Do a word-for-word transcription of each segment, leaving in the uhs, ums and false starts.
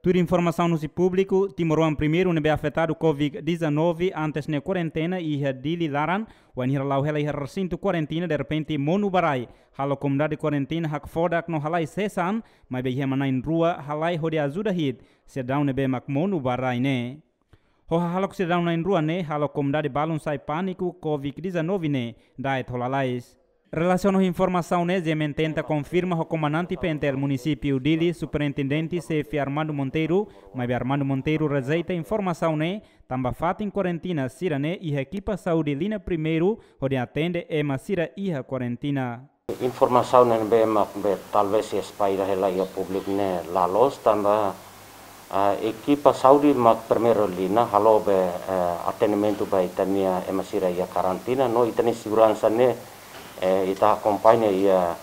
Tuir informasaun husi públiku, timoroan primeiru ne'ebé afetadu Covid dezanove antes ne'e kuarentena iha Dili laran, wainhira la'o hela iha resintu kuarentena derrepente monu ba rai, halo komunidade kuarentena hakfodak no halai sesaan, maibé iha ema na'in rua halai hodi ajuda hi'it sidadaun ne'ebé mak monu ba rai ne'e. Ho hahalok sidadaun na'in rua ne'e, halo komunidade balun sai pániku Covid dezanove ne'e da'et ho lalais. Relasiona ho informasaun ne'e, GMN tenta konfirma ho komandante PNTL munisípiu Dili, Superintendente Xefe Armando Monteiro, maibé Armando Monteiro rejeita informasaun ne'e, tanba fatin kuarentena sira-ne'e iha ekipa saúde liña primeiru hodi atende ema sira iha kuarentena. Informasaun ne'ebé mak be talvés espalla hela iha públiku ne'e la loos tanba, ah, ekipa saúde mak primeira liña halo be, eh, atendimentu ba ita-nia ema sira iha karantina no ita-nia seguransa ne'e, eh, ita akompaña iha,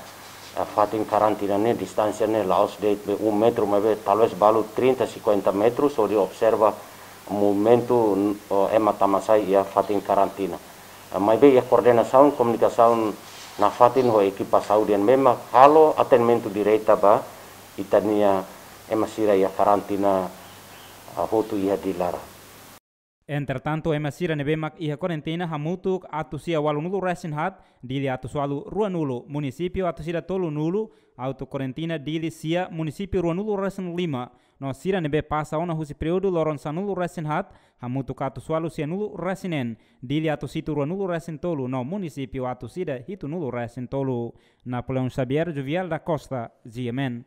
eh, fatin karantina ne'e distánsia ne'e la'ós de'it be um metru maibé talvés balu trinta, cinquenta metros hodi observa movimentu, oh, ema tama sai iha fatin karantina. Ah, maibé iha koordenasaun komunikasaun nafatin ho ekipa saúde ne'ebé mak halo atendimentu direta ba ita-nia ema sira iha karantina, ah, hotu iha Dili laran. Entretantu, ema sira ne'ebé mak iha kuarentena hamutuk atus sia ualunulu resin haat, Dili atus ualu ruanulu, munisípiu atus ida tolunulu, auto kuarentena Dili sia, munisípiu ruanulu resin lima, no sira ne'ebé pasa ona husi períodu loron sanulu resin haat, hamutuk atus ualu sianulu resin neen, Dili atus hitu ruanulu resin tolu, no munisípiu atus ida hitunulu resin tolu. Napoleão Xavier, Juvial da Costa, GMN.